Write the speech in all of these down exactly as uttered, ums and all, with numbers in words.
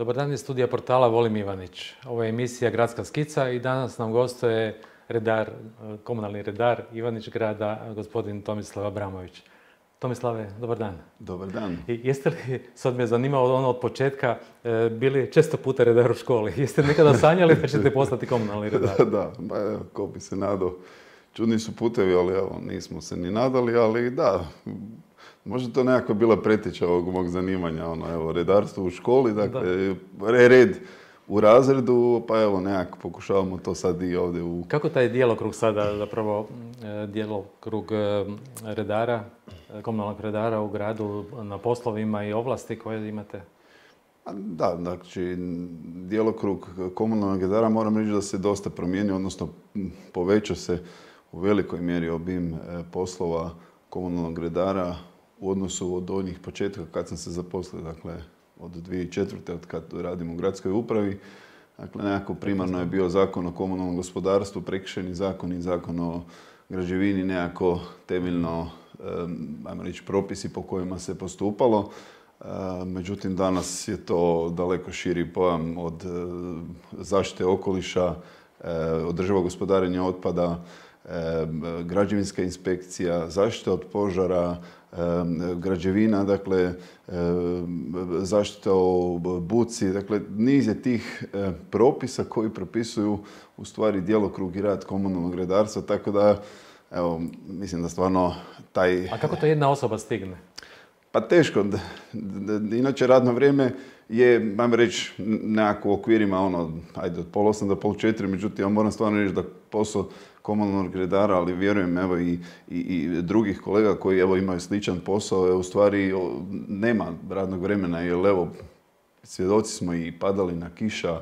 Dobar dan iz studija portala Volim Ivanić. Ovo je emisija Gradska skica i danas nam gostuje redar, komunalni redar Ivanić grada, gospodin Tomislav Abramović. Tomislave, dobar dan. Dobar dan. I jeste li, sad me zanimalo ono od početka, bili često puta redar u školi? Jeste nekada sanjali da ćete postati komunalni redar? Da, da, pa evo, ko bi se nadao. Čudni su putevi, ali evo, nismo se ni nadali, ali da, možda to nekako bila preteča ovog mog zanimanja, ono, evo, redarstvo u školi, dakle, da. red u razredu, pa evo, nekako pokušavamo to sad i ovdje u... Kako taj djelokrug sada, zapravo, djelokrug redara, komunalnog redara u gradu na poslovima i ovlasti koje imate? Da, znači, djelokrug komunalnog redara moram reći da se dosta promijenio, odnosno povećao se u velikoj mjeri obim poslova komunalnog redara u odnosu od onih početka kad sam se zaposlio, dakle, od dvije tisuće četvrte. od kad radim u gradskoj upravi. Dakle, nekako primarno je bio zakon o komunalnom gospodarstvu, prekršajni zakon i zakon o građevini, nekako temeljno, ajmo reći, propisi po kojima se postupalo. Međutim, danas je to daleko širi pojam od zaštite okoliša, održivog gospodarenja otpada, građevinska inspekcija, zaštita od požara, građevina, dakle, zaštita o buci, dakle, niz je tih propisa koji propisuju u stvari djelokrug i rad komunalnog redarstva, tako da, evo, mislim da stvarno taj... A kako to jedna osoba stigne? Pa teško. Inače, radno vrijeme je, ajmo reći, nekako u okvirima, ono, ajde, od pol osam do pol četiri, međutim, ja moram stvarno reći da posao komunalnog redara, ali vjerujem, evo, i, i, i drugih kolega koji, evo, imaju sličan posao, je, u stvari nema radnog vremena, jer, evo, svjedoci smo i padalina, kiša,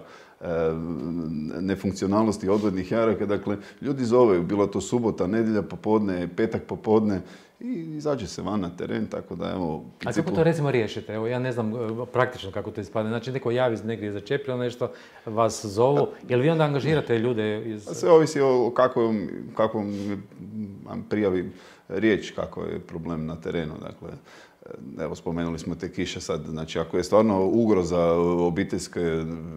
nefunkcionalnosti odvodnih jaraka. Dakle, ljudi zoveju, bilo to subota, nedjelja popodne, petak popodne i izađe se van na teren, tako da evo... Principu... A kako to recimo riješite? Evo, ja ne znam praktično kako to ispadne. Znači, neko javi negdje začepilo nešto, vas zovu. Jel vi onda angažirate ljude iz... Sve ovisi o kakvom, kakvom prijavi riječ, kako je problem na terenu. Dakle, evo, spomenuli smo te kiše sad. Znači, ako je stvarno ugroza obiteljske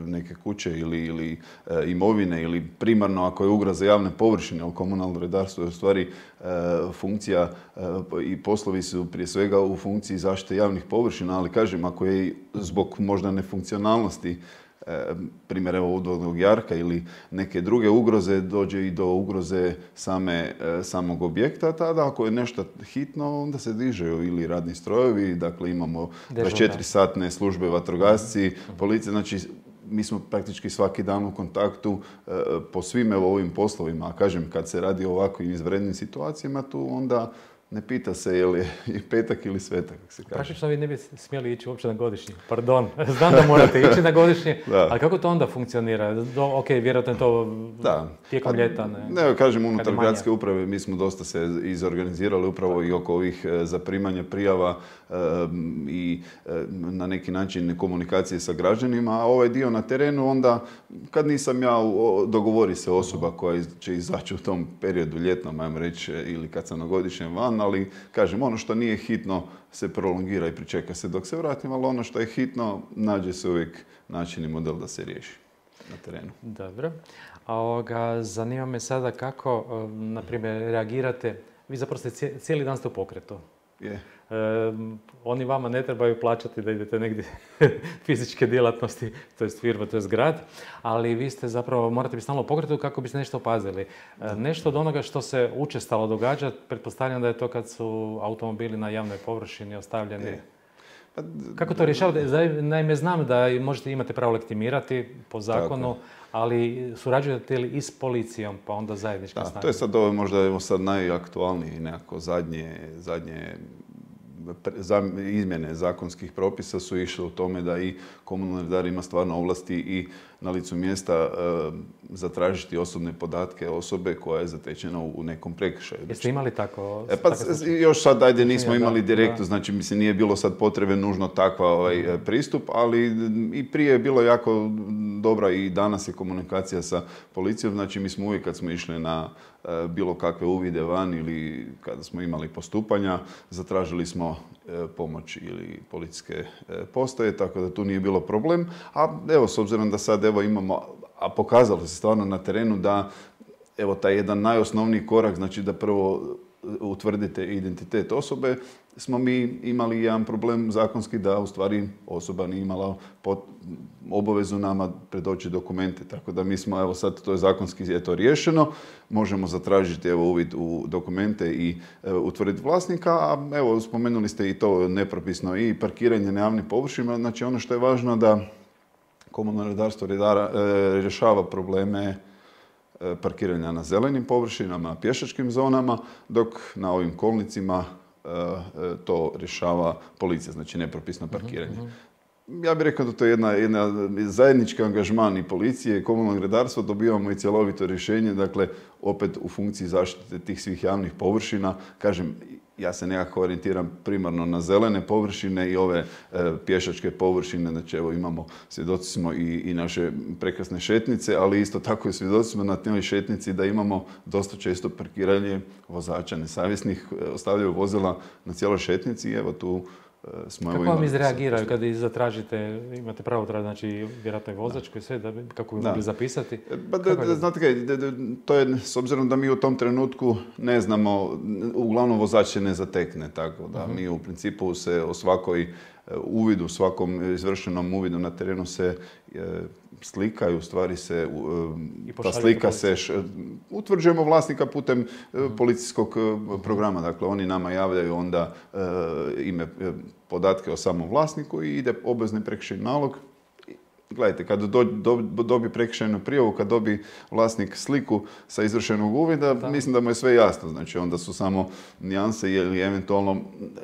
neke kuće ili, ili e, imovine, ili primarno ako je ugroza javne površine, u komunalno redarstvo je u stvari e, funkcija e, i poslovi su prije svega u funkciji zaštite javnih površina, ali kažem, ako je zbog možda nefunkcionalnosti, primjer evo odvodnog jarka ili neke druge ugroze, dođe i do ugroze same, samog objekta, tada ako je nešto hitno, onda se dižeju ili radni strojevi, dakle imamo dvadeset četiri satne službe, vatrogasci, policija, znači mi smo praktički svaki dan u kontaktu po svim evo ovim poslovima, a kažem, kad se radi o ovakvim izvanrednim situacijama, tu onda ne pita se je li petak ili svetak, kako se kaže. Praktično vi ne bi smjeli ići uopće na godišnji. Pardon, znam da morate ići na godišnji, ali kako to onda funkcionira? Do, ok, vjerojatno je to da. tijekom ljeta. Ne, ne kažem, unutar gradske uprave mi smo dosta se izorganizirali upravo i oko ovih zaprimanja prijava um, i um, na neki način komunikacije sa građanima, a ovaj dio na terenu onda, kad nisam ja, dogovori se osoba koja će izaći u tom periodu ljetnom, ajmo reći, ili kad sam na godišnjem van, ali kažem, ono što nije hitno se prolongira i pričeka se dok se vratim, ali ono što je hitno, nađe se uvijek način i model da se riješi na terenu. Dobro. A ovoga, zanima me sada kako, na primjer, reagirate. Vi zapravo ste cijeli dan ste u pokretu. Je. E, oni vama ne trebaju plaćati da idete negdje fizičke djelatnosti, to je firma, to je grad, ali vi ste zapravo, morate biti stalno u pokretu kako biste nešto opazili. E, nešto od onoga što se učestalo događa, pretpostavljam da je to kad su automobili na javnoj površini ostavljeni. Je. Pa, kako to rješavate? Naime, znam da možete imate pravo legitimirati po zakonu, ali surađujete li i s policijom, pa onda zajednička snaga? To je sad ovo možda evo sad najaktualniji nekako zadnje, zadnje izmjene zakonskih propisa su išle u tome da i komunalni redar ima stvarno ovlasti i na licu mjesta e, zatražiti osobne podatke osobe koja je zatečena u nekom prekršaju. Jeste imali tako? E, pa još sad, ajde, nismo imali direktno, znači mislim nije bilo sad potrebe nužno takva ovaj, pristup, ali i prije je bilo jako dobra i danas je komunikacija sa policijom, znači mi smo uvijek kad smo išli na e, bilo kakve uvide van ili kada smo imali postupanja, zatražili smo pomoć ili policijske postaje, tako da tu nije bilo problem. A evo, s obzirom da sad evo imamo, a pokazalo se stvarno na terenu da evo taj jedan najosnovniji korak, znači da prvo utvrdite identitet osobe, smo mi imali jedan problem zakonski da u stvari osoba nije imala obavezu nama predoći dokumente. Tako da mi smo, evo sad to je zakonski je to riješeno, možemo zatražiti evo uvid u dokumente i evo, utvrditi vlasnika, a evo spomenuli ste i to nepropisno i parkiranje na javnim površinama. Znači ono što je važno da komunalno redarstvo redara, e, rješava probleme parkiranja na zelenim površinama, pješačkim zonama, dok na ovim kolnicima to rješava policija, znači nepropisno parkiranje. Uh-huh. Ja bih rekao da to je jedna, jedna zajednički angažman i policije i komunalnog redarstva, dobivamo i cjelovito rješenje, dakle opet u funkciji zaštite tih svih javnih površina. Kažem, ja se nekako orijentiram primarno na zelene površine i ove e, pješačke površine. Znači, evo imamo, svjedoci smo i, i naše prekrasne šetnice, ali isto tako i svjedoci smo na toj šetnici da imamo dosta često parkiranje vozača nesavjesnih, ostavljaju vozila na cijeloj šetnici i evo tu smo... Kako vam izreagiraju kad zatražite, imate pravo tražiti, znači vjerojatno je vozač koji sve, da, kako bi mogli zapisati? Ba, da, da, znate kaj, da, da, to je, s obzirom da mi u tom trenutku ne znamo, uglavnom vozač se ne zatekne, tako da uh-huh. mi u principu se o svakoj uvidu, svakom izvršenom uvidu na terenu se e, slika i u stvari se, e, ta slika se, š, utvrđujemo vlasnika putem e, policijskog e, programa. Dakle, oni nama javljaju onda e, ime, e, podatke o samom vlasniku i ide obvezni prekršajni nalog. Gledajte, kad do, do, dobi prekršajnu prijavu, kad dobi vlasnik sliku sa izvršenog uvida, da. Mislim da mu je sve jasno. Znači, onda su samo nijanse ili eventualno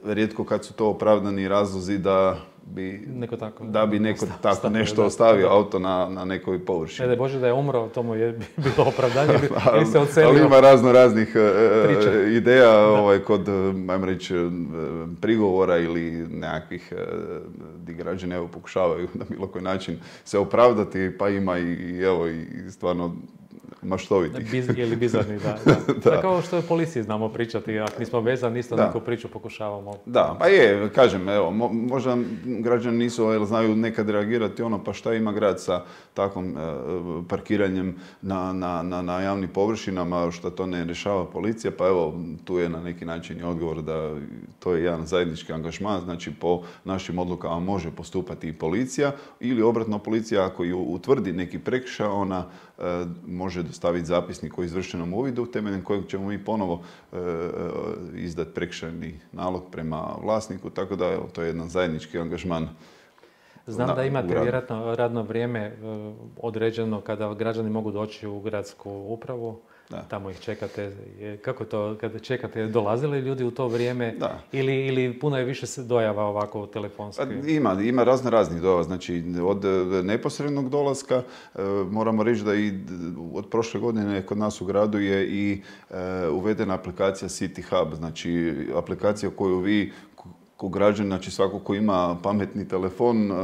rijetko kad su to opravdani razlozi da bi neko tako, da bi neko stav, tako stav, nešto da, ostavio da. auto na, na nekoj površini. Ne da Bože da je umro, to mu je bilo opravdanje, ili se odselio. Ali ima razno raznih uh, ideja ovaj, kod, ajmo reći, prigovora ili nekakvih uh, gdje građani evo, pokušavaju na bilo koji način se opravdati, pa ima i, i evo i stvarno maštovitih. Biz, ili bizarni, da. da. da. Tako ovo što je policiji znamo pričati, ako nismo vezani, isto neku priču pokušavamo. Da, pa je, kažem, evo, mo, možda građani nisu, jel znaju nekad reagirati ono, pa šta ima grad sa takvom e, parkiranjem na, na, na, na javnim površinama, što to ne rješava policija, pa evo, tu je na neki način i odgovor da to je jedan zajednički angažman, znači po našim odlukama može postupati i policija ili obratno policija ako ju utvrdi neki prekršaj, ona e, može dostaviti zapisnik o izvršenom uvidu, temeljem kojeg ćemo mi ponovo e, izdati prekršajni nalog prema vlasniku, tako da evo, to je jedan zajednički angažman. Znam na, da imate vjerojatno radno vrijeme e, određeno kada građani mogu doći u gradsku upravu. Da. Tamo ih čekate. Kako to, kada čekate, dolazili ljudi u to vrijeme ili, ili puno je više dojava ovako telefonski? Ima, ima razno raznih dojava. Znači, od neposrednog dolaska e, moramo reći da i od prošle godine kod nas u gradu je i e, uvedena aplikacija City Hub, znači aplikacija koju vi ko građan, znači svako ko ima pametni telefon uh,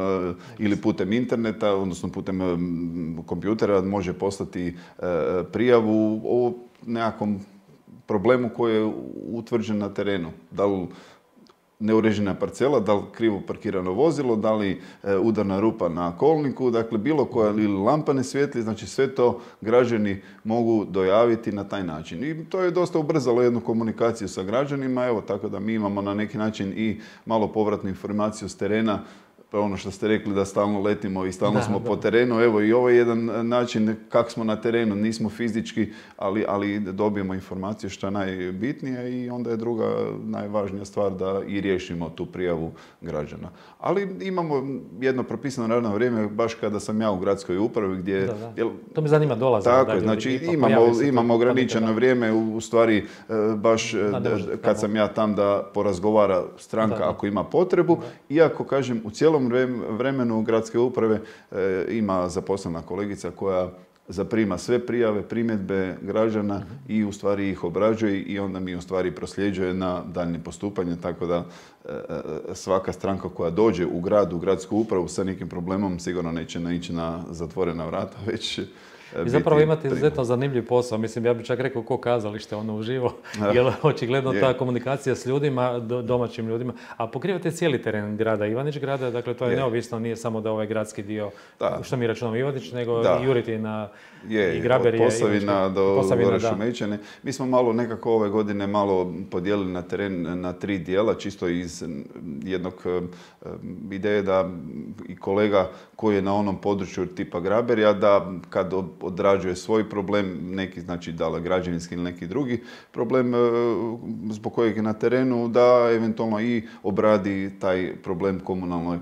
ili putem interneta, odnosno putem um, kompjutera, može poslati uh, prijavu o nekakvom problemu koji je utvrđen na terenu. Da li neuređena parcela, da li krivo parkirano vozilo, da li e, udarna rupa na kolniku, dakle bilo koja ili lampa ne svijetli, znači sve to građani mogu dojaviti na taj način. I to je dosta ubrzalo jednu komunikaciju sa građanima, evo tako da mi imamo na neki način i malo povratnu informaciju s terena, pa ono što ste rekli da stalno letimo i stalno da, smo da. po terenu, evo i ovo je jedan način kako smo na terenu, nismo fizički, ali, ali dobijemo informacije što je najbitnije i onda je druga najvažnija stvar da i riješimo tu prijavu građana. Ali imamo jedno propisano radno vrijeme baš kada sam ja u gradskoj upravi gdje... Da, da. Jel, to me zanima dolaze. Tako je, znači imamo, imamo ograničeno da. vrijeme, u stvari baš da, da, kad sam ja tam da porazgovara stranka da, da. ako ima potrebu, da. iako kažem u cijelom vremenu gradske uprave e, ima zaposlena kolegica koja zaprima sve prijave, primjedbe građana uh-huh. i u stvari ih obrađuje i onda mi u stvari prosljeđuje na daljnje postupanje, tako da e, svaka stranka koja dođe u grad, u gradsku upravu sa nekim problemom sigurno neće naići na zatvorena vrata, već I zapravo imate izuzetno zanimljiv posao. Mislim, ja bih čak rekao ko kazalište, ono uživo, jer očigledno ta komunikacija s ljudima, domaćim ljudima, a pokrivate cijeli teren grada Ivanić grada, dakle to je, je. neovisno, nije samo da ovaj gradski dio, da. što mi računamo Ivanić, nego da. i Juritina, je, i Graberije. Od Posavina do Gore Šumećane. Mi smo malo nekako ove godine malo podijelili na teren na tri dijela, čisto iz jednog ideje da i kolega koji je na onom području tipa Graberija, da kad odrađuje svoj problem, neki znači da li građevinski ili neki drugi problem zbog kojeg je na terenu, da eventualno i obradi taj problem komunalnoj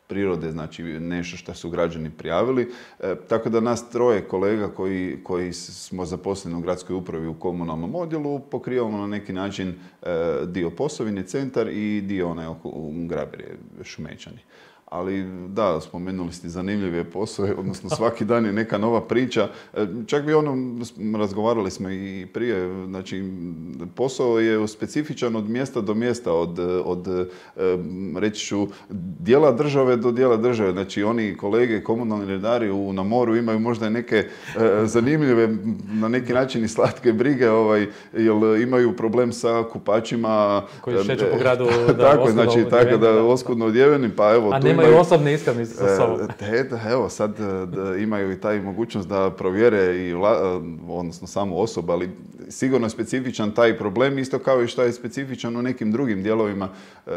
prirode, znači nešto što su građani prijavili. E, tako da nas troje kolega koji, koji smo zaposleni u gradskoj upravi u komunalnom odjelu pokrivamo na neki način e, dio Posavine, centar i dio onaj oko Graberije, Šumećani. Ali da, spomenuli ste zanimljive poslove, odnosno svaki dan je neka nova priča. Čak bi ono, razgovarali smo i prije, znači posao je specifičan od mjesta do mjesta, od, od reći ću, dijela države do dijela države. Znači oni kolege, komunalni redari u, na moru imaju možda neke zanimljive, na neki način i slatke brige, ovaj, jer imaju problem sa kupačima. Koji šeću po gradu. Da, tako, znači, tako da oskudno odjeveni, pa evo, a tu imaju osobne iskaznice sa sobom. E, evo, sad da imaju i taj mogućnost da provjere i vla, odnosno samu osobu, ali sigurno je specifičan taj problem, isto kao i što je specifičan u nekim drugim dijelovima e,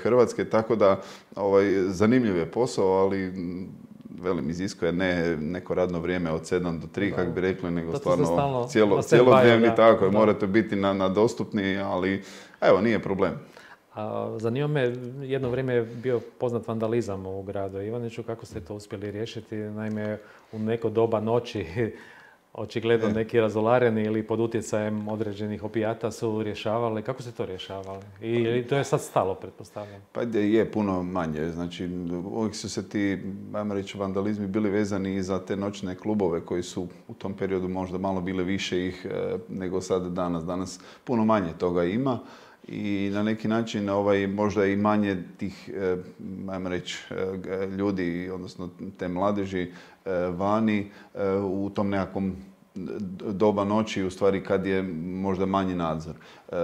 Hrvatske, tako da ovaj, zanimljiv je posao, ali velim, iziskuje ne neko radno vrijeme od sedam do tri, kako bi rekli, nego to stvarno stalno, cijelo, cijelodnevni, tako je, morate biti na, na dostupni, ali evo, nije problem. Zanima me, jedno vrijeme je bio poznat vandalizam u gradu Ivaniću. Kako ste to uspjeli riješiti? Naime, u neko doba noći očigledno neki razolareni ili pod utjecajem određenih opijata su rješavali. Kako ste to rješavali? I to je sad stalo, pretpostavljam? Pa je puno manje. Znači, uvijek su se ti, ajmo reći, vandalizmi bili vezani i za te noćne klubove koji su u tom periodu možda malo bile više ih nego sad danas. Danas puno manje toga ima. I na neki način ovaj, možda i manje tih, eh, ajmo reći, eh, ljudi, odnosno te mladeži eh, vani eh, u tom nekakvom doba noći, u stvari kad je možda manji nadzor. E,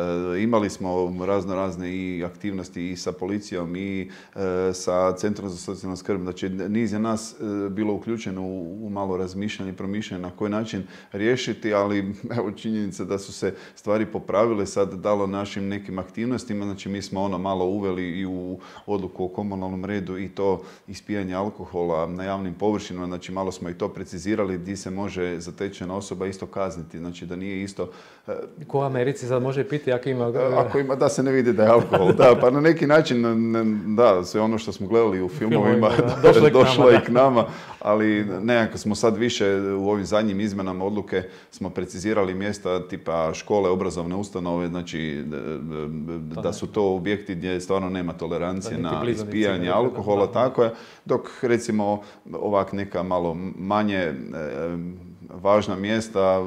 imali smo razno razne i aktivnosti i sa policijom i e, sa Centrom za socijalnu skrb. Znači, niz je nas e, bilo uključeno u, u malo razmišljanje i promišljanje na koji način riješiti, ali evo činjenica da su se stvari popravile sad dalo našim nekim aktivnostima. Znači, mi smo ono malo uveli i u odluku o komunalnom redu i to ispijanje alkohola na javnim površinama. Znači, malo smo i to precizirali gdje se može zatečena osoba isto kazniti. Znači, da nije isto... Ko u Americi sad može piti ako ima... Ako ima, da se ne vidi da je alkohol. Da, pa na neki način, da, sve ono što smo gledali u filmovima došlo je i k nama, ali nekako smo sad više u ovim zadnjim izmenama odluke smo precizirali mjesta tipa škole, obrazovne ustanove, znači da su to objekti gdje stvarno nema tolerancije na ispijanje alkohola, tako je, dok recimo ovak neka malo manje važna mjesta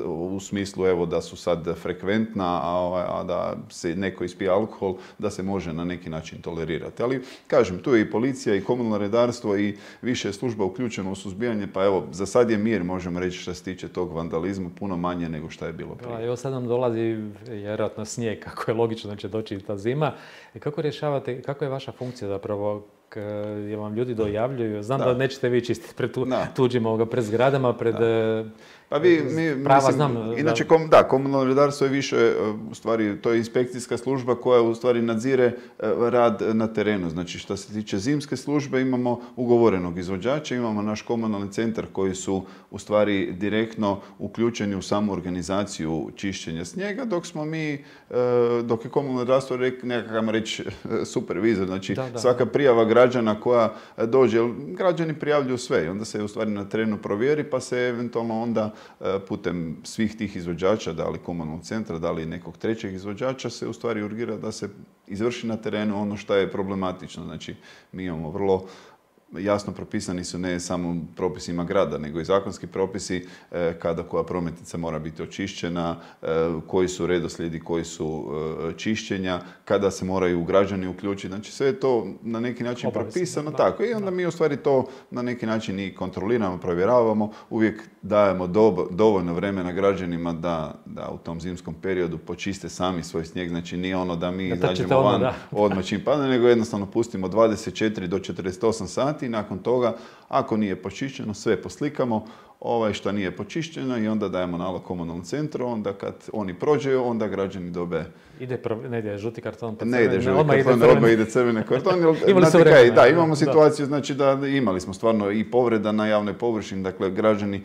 u smislu evo da su sad frekventna, a, a da se neko ispija alkohol, da se može na neki način tolerirati. Ali kažem, tu je i policija i komunalno redarstvo i više je služba uključeno u suzbijanje, pa evo, za sad je mir, možemo reći, što se tiče tog vandalizma, puno manje nego što je bilo prije. Da, evo sad nam dolazi vjerojatno snijeg, kako je logično da će doći ta zima. Kako rješavate, kako je vaša funkcija zapravo? Jer vam ljudi dojavljuju. Znam da, da nećete vi čistiti pred tu, tuđim ovoga, pred zgradama, pred... Da. Pa vi, mi, prava, mislim, znam, inače, kom, da, komunalno redarstvo je više, u stvari, to je inspekcijska služba koja u stvari nadzire rad na terenu. Znači, što se tiče zimske službe, imamo ugovorenog izvođača, imamo naš komunalni centar koji su u stvari direktno uključeni u samu organizaciju čišćenja snijega, dok smo mi, dok je komunalno redarstvo nekakav reći supervizor. Znači, da, da, svaka prijava građana koja dođe, građani prijavljuju sve i onda se u stvari na terenu provjeri, pa se eventualno onda putem svih tih izvođača, da li komunalnog centra, da li nekog trećeg izvođača, se u stvari urgira da se izvrši na terenu ono što je problematično. Znači, mi imamo vrlo jasno propisani su ne samo propisima grada, nego i zakonski propisi kada koja prometnica mora biti očišćena, koji su redoslijedi, koji su čišćenja, kada se moraju građani uključiti. Znači sve je to na neki način Obavisno, propisano da. tako. I onda mi u stvari to na neki način i kontroliramo, provjeravamo. Uvijek dajemo dobo, dovoljno vremena građanima da, da u tom zimskom periodu počiste sami svoj snijeg. Znači nije ono da mi izađemo van odmah, odmah čim padne, nego jednostavno pustimo dvadeset četiri do četrdeset osam sati i nakon toga, ako nije počišćeno, sve poslikamo, ovaj što nije počišćeno i onda dajemo nalog komunalnom centru, onda kad oni prođe, onda građani dobe... Ide, ne ide žuti karton, pa ne ide žuti odmah karton, ide odmah ide crveni karton. Imali su vremena, vremena. Da, imamo Da. situaciju, znači da imali smo stvarno i povreda na javnoj površini, dakle građani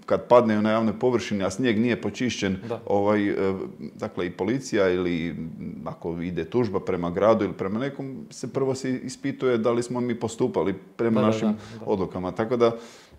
kad padneju na javnoj površini, a snijeg nije počišćen, ovaj, dakle i policija ili ako ide tužba prema gradu ili prema nekom, se prvo se ispituje da li smo mi postupali prema da, našim da, da. odlukama. Tako da,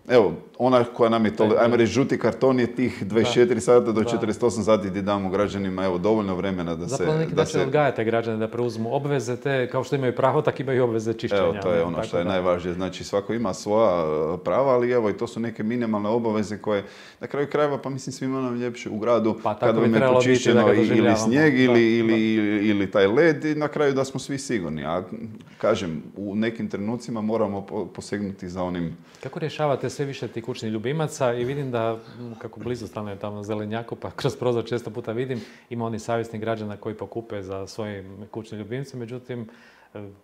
evo, ona koja nam je to, ajmo reći, žuti karton je tih dvadeset četiri sata do četrdeset osam sati gdje damo građanima, evo, dovoljno vremena da se... Zapravo na neki način odgajate građane da preuzmu obveze te, kao što imaju pravo, tako imaju obveze čišćenja. Evo, to je ono što je najvažnije. Znači, svako ima svoja prava, ali evo, i to su neke minimalne obaveze koje, na kraju krajeva, pa mislim, svima nam ljepše u gradu, pa, kada vam je počišćeno ili snijeg ili, ili, ili, ili taj led, i na kraju da smo svi sigurni. A, kažem, u nekim trenucima moramo posegnuti za onim... Kako rješavate sve više tih kućnih ljubimaca i vidim da, kako blizu stanujem tamo na Zelenjaku, pa kroz prozor često puta vidim, ima oni savjesnih građana koji pokupe za svojim kućnim ljubimcem, međutim,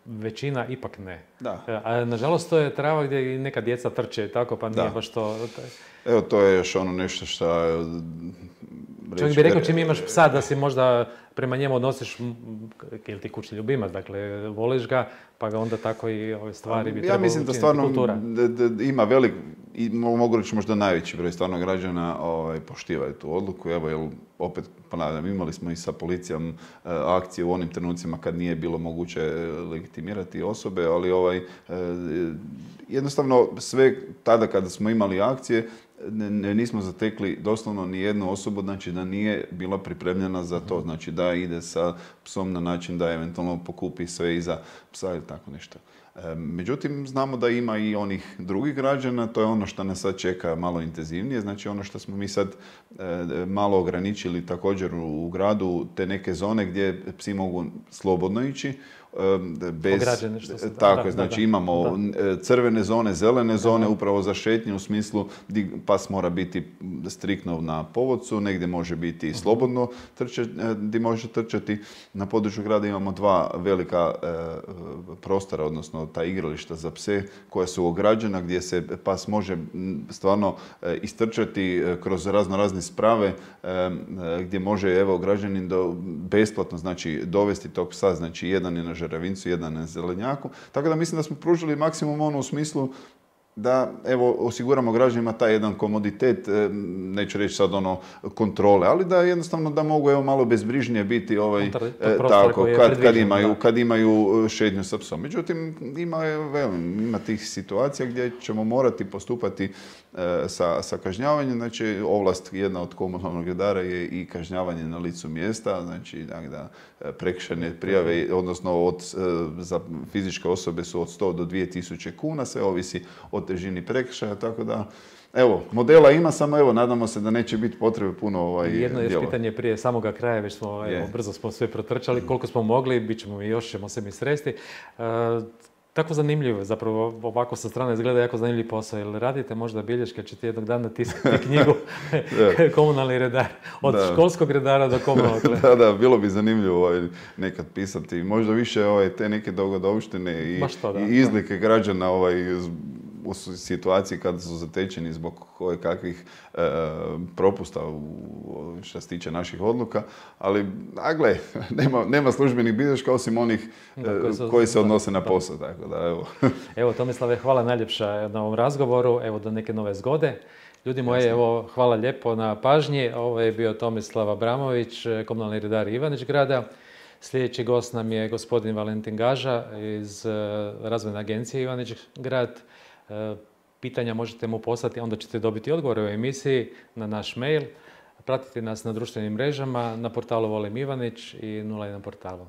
većina ipak ne. Da. A nažalost to je trava gdje i neka djeca trče i tako, pa nije da. baš to... Evo, to je još ono nešto što... Čovjek bi rekao čim imaš psa da si možda prema njemu odnosiš, ili ti kućni ljubimac, dakle voliš ga, pa ga onda tako i ove stvari bi trebalo ja mislim da stvarno kultura. Da, da ima velik, i mogu reći možda najveći broj stvarno građana ovaj, poštivaju tu odluku. Evo, jer opet ponavljam, imali smo i sa policijom uh, akcije u onim trenucima kad nije bilo moguće legitimirati osobe, ali ovaj, uh, jednostavno sve tada kada smo imali akcije, Ne, nismo zatekli doslovno ni jednu osobu, znači da nije bila pripremljena za to, znači da ide sa psom na način da eventualno pokupi sve iza psa ili tako nešto. E, međutim, znamo da ima i onih drugih građana, to je ono što nas sad čeka malo intenzivnije, znači ono što smo mi sad e, malo ograničili također u, u gradu, te neke zone gdje psi mogu slobodno ići, bez, se, tako da, je, znači da, imamo da. crvene zone, zelene zone, da. upravo za šetnju u smislu gdje pas mora biti striktno na povodcu, negdje može biti slobodno trče, gdje može trčati. Na području grada imamo dva velika e, prostora, odnosno ta igrališta za pse koja su ograđena, gdje se pas može stvarno e, istrčati kroz razno razne sprave, e, gdje može, evo, građanin do, besplatno, znači, dovesti tog psa, znači jedan je na Žeravincu, jedan na Zelenjaku. Tako da mislim da smo pružili maksimum ono u smislu da, evo, osiguramo građanima taj jedan komoditet, neću reći sad ono kontrole, ali da jednostavno da mogu, evo, malo bezbrižnije biti ovaj, e, tako, kad, kad, imaju, kad imaju šetnju sa psom. Međutim, ima, velim, ima tih situacija gdje ćemo morati postupati e, sa, sa kažnjavanjem. Znači, ovlast jedna od komunalnog redara je i kažnjavanje na licu mjesta, znači da, da prekršajne prijave, odnosno od, za fizičke osobe su od sto do dvije tisuće kuna, sve ovisi o težini prekršaja, tako da, evo, modela ima, samo evo, nadamo se da neće biti potrebe puno ovaj, Jedno je djela. pitanje prije samoga kraja, već smo, evo, Yeah. brzo smo sve protrčali, koliko smo mogli, bit ćemo i još, ćemo se mi sresti. E, tako zanimljivo, zapravo ovako sa strane izgleda jako zanimljiv posao, jer radite možda bilješke, ćete jednog dana tiskati knjigu komunalni redar, od da. školskog redara do komunalnog redara. Da, da, bilo bi zanimljivo ovaj, nekad pisati, možda više ovaj, te neke dogodovštine i, to, da, i izlike da. građana ovaj, u situaciji kada su zatečeni zbog koje kakvih e, propusta u, što se tiče naših odluka, ali, a gle, nema, nema službenih bilješka osim onih da, koji, su, koji se odnose da, na posao, da. Tako da, evo. Evo, Tomislave, hvala najljepša na ovom razgovoru, evo, do neke nove zgode. Ljudi moji, evo, hvala lijepo na pažnji. Ovo je bio Tomislav Abramović, komunalni redar Ivanić grada. Sljedeći gost nam je gospodin Valentin Gaža iz Razvojne agencije Ivanić grad. Pitanja možete mu poslati, onda ćete dobiti odgovore u emisiji na naš mail. Pratite nas na društvenim mrežama, na portalu Volim Ivanić i nula jedan portalu.